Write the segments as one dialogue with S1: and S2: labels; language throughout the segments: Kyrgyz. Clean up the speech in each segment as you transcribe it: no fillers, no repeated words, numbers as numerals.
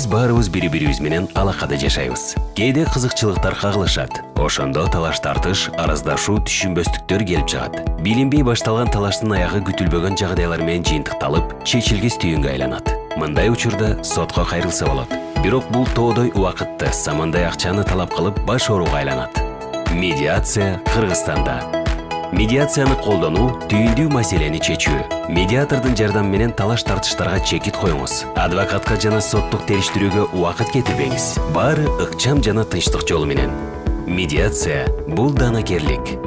S1: Биз баарыбыз бири-бирибиз менен алакада жашайбыз. Кээде кызыкчылыктар кагылышат. Ошондо талаш-тартыш, араздашуу, түшүнбөстүктөр келип чыгат. Билинбей башталган талаштын аягы күтүлбөгөн жагдайлар менен жыйынтыкталып, чечилгис түйүнгө айланат. Мындай учурда сотко кайрылса болот. Бирок бул тоодой убакытты, самандай акчаны талап кылып баш ооруга айланат. Медиация Кыргызстанда. Медиацияны колдонуу түйүндүү маселени чечүү. Медиатордун жардамы менен талаш-тартыштарга чекит коюңуз. Адвокатка жана соттук териштирүүгө убакыт кетирбеңиз. Баары ыкчам жана тынчтык жолу менен. Медиация бул данакерлик.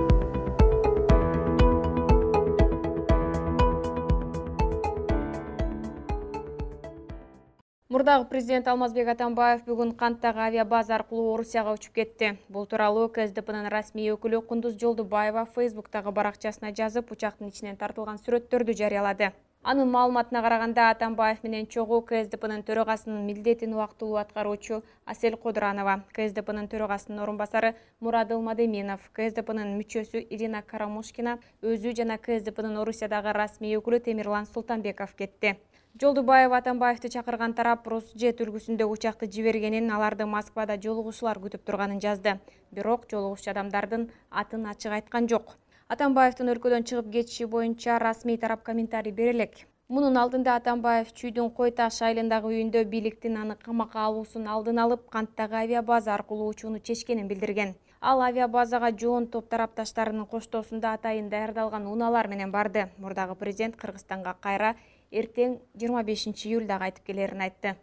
S2: Мурдагы президент Алмазбек Атамбаев бүгүн Канттагы авиабаза аркылуу Орусияга учуп кетти. Бул тууралуу КСДПнын расмий өкүлү Кундуз Жолдубаева Фейсбуктагы баракчасына жазып, учактын ичинен тартылган сүрөттөрдү жарыялады. Анын маалыматына караганда, Атамбаев менен чогуу КСДПнын төрагасынын милдетин убактылуу аткаруучу Асель Кодуранова, КСДПнын төрагасынын орун басары Мурадыл Мадеминов, КСДПнын мүчөсү Ирина Карамушкина, өзү жана КСДПнын Орусиядагы расмий өкүлү Темирлан Султанбеков кетти. Жолдубаева Атамбаевди чакырган тарап Русжет үлгүсүндө учакты жибергенин, аларды Москвада жолугушуулар күтүп турганын жазды. Бирок жолугушчу адамдардын атын ачык айткан жок. Атамбаевдин өлкөдөн чыгып кетиши боюнча расмий тарап комментарий бере элек. Мунун алдында Атамбаев Чүйдүн Кой Таш айылындагы үйүндө бийликтин аны камакка алуусун алдын алып, Канттагы авиабаза аркылуу учууну чечкенин билдирген. Ал авиабазага жоон топ тарапташтарынын коштоосунда атайын даярдалган унаалар менен барды. Мурдагы президент Кыргызстанга кайра эртең 25 июлда кайтып келерин айтты.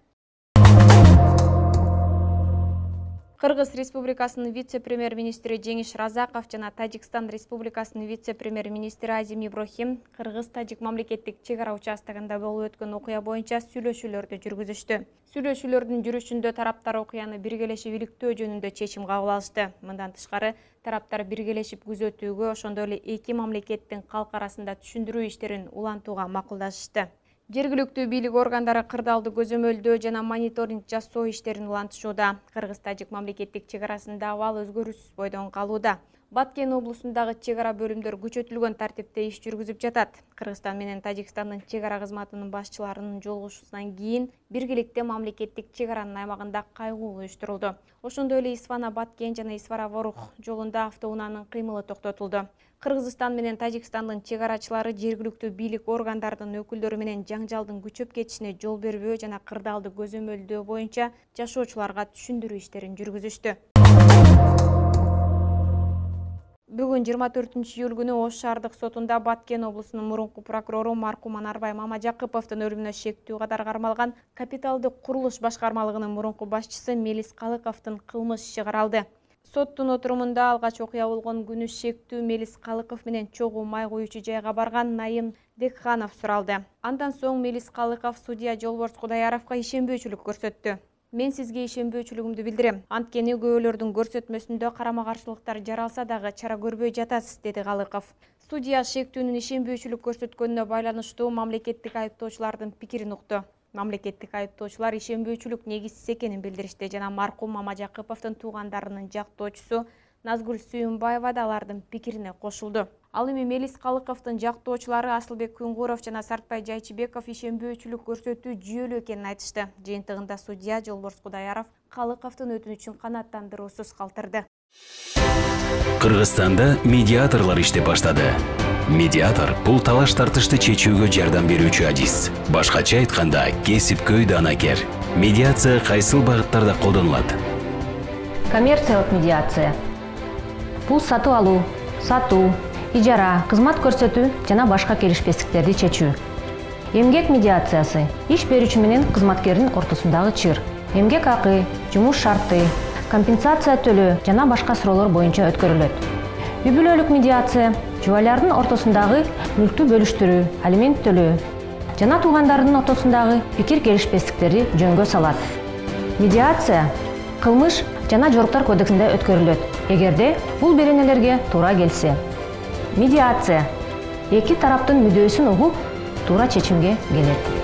S2: Кыргыз Республикасынын вице-премьер-министри Жеңиш Разаков жана Тажикстан Республикасынын вице-премьер-министри Азим Иброхим Кыргыз-Тажик мамлекеттик чек ара участогунда болуп өткөн окуя боюнча сүйлөшүүлөрдү жүргүзүштү. Сүйлөшүүлөрдүн жүрүшүндө тараптар окуяны биргелешип иликтөө жөнүндө чечим кабыл алышты. Мындан тышкары, тараптар биргелешип күзөтүүгө, ошондой эле эки мамлекеттин калк арасында түшүндүрүү иштерин улантууга макулдашышты. Жергиликтүү бийлик органдары кырдаалды көзөмөлдөө жана мониторинг жасоо иштерин улантышууда. Кыргыз-Тажик мамлекеттик чек арасында абал өзгөрүүсүз бойдон калууда. Баткен облусундагы чек ара бөлүмдөр күчөтүлгөн тартипте иш жүргүзүп жатат. Кыргызстан менен Тажикстандын чек ара кызматынын башчыларынын жолугушуусунан кийин биргеликте мамлекеттик чек аранын аймагында кайгуу уюштурулду. Ошондой эле Исфана-Баткен жана Исфара-Ворух жолунда автоунаанын кыймылы токтотулду. Кыргызстан менен Тажикстандын чек арачылары жергиликтүү бийлик органдарынын өкүлдөрү менен жаңжалдын күчөп кетишине жол бербөө жана кырдаалды көзөмөлдөө боюнча жашоочуларга түшүндүрүү иштерин жүргүзүштү. Бүгүн 24 июль күнү Ош шаардык сотунда Баткен облусунун мурунку прокурору маркум Анарбай Мамажакыповдун өлүмүнө шектүү катары кармалган капиталдык курулуш башкармалыгынын мурунку башчысы Мелис Калыковдун кылмыш иши каралды. Соттун отурумунда алгач окуя болгон күнү шектүү Мелис Калыков менен чогуу май куюучу жайга барган Найым Декханов суралды. Андан соң Мелис Калыков судья Жолборс Кудаяровго ишенбөөчүлүк көрсөттү. Мен сизге ишенбөөчүлүгүмдү билдирем. Анткени күбөлөрдүн көрсөтмөсүндө карама-каршылыктар жаралса дагы чара көрбөй жатасыз, деди Калыков. Судья шектүүнүн ишенбөөчүлүк көрсөткөнүнө байланыштуу мамлекеттик айыптоочулардын пикирин укту. Мамлекеттик айыптоочулар ишенбөөчүлүк негизсиз экенин билдиришти жана маркум Мамажакыповдун туугандарынын жактоочусу Назгүл Сүйүнбаева да алардын пикирине кошулду. Ал эми Мелис Калыковдун жактоочулары Асылбек Күнгуров жана Сартбай Жайчыбеков ишенбөөчүлүк көрсөтүү жүйөлүү экенин айтышты. Жыйынтыгында судья Жолборс Кудаяров Калыковдун өтүнүчүн канааттандыруусуз калтырды.
S1: Кыргызстанда медиаторлор иштеп баштады. Медиатор бул талаш-тартышты чечүүгө жардам берүүчү адис. Башкача айтканда, кесипкөй данакер. Медиация кайсыл багыттарда колдонулат?
S3: Коммерциялык медиация. Бул сатып алуу, сатуу, ижара, кызмат көрсөтүү жана башка келишпестиктерди чечүү. Эмгек медиациясы иш берүүчү менен кызматкердин ортосундагы чыр. Эмгек акы, жумуш шарты, компенсация төлөө жана башка суроолор боюнча өткөрүлөт. Үй бүлөлүк медиация жубайлардын ортосундагы мүлктү бөлүштүрүү, алимент төлөө жана туугандардын ортосундагы пикир келишпестиктерди жөнгө салат. Медиация кылмыш жана жоруктар кодексинде өткөрүлөт, эгерде бул беренелерге туура келсе. Медиация эки тараптын мүдөөсүн угуп, туура чечимге келет.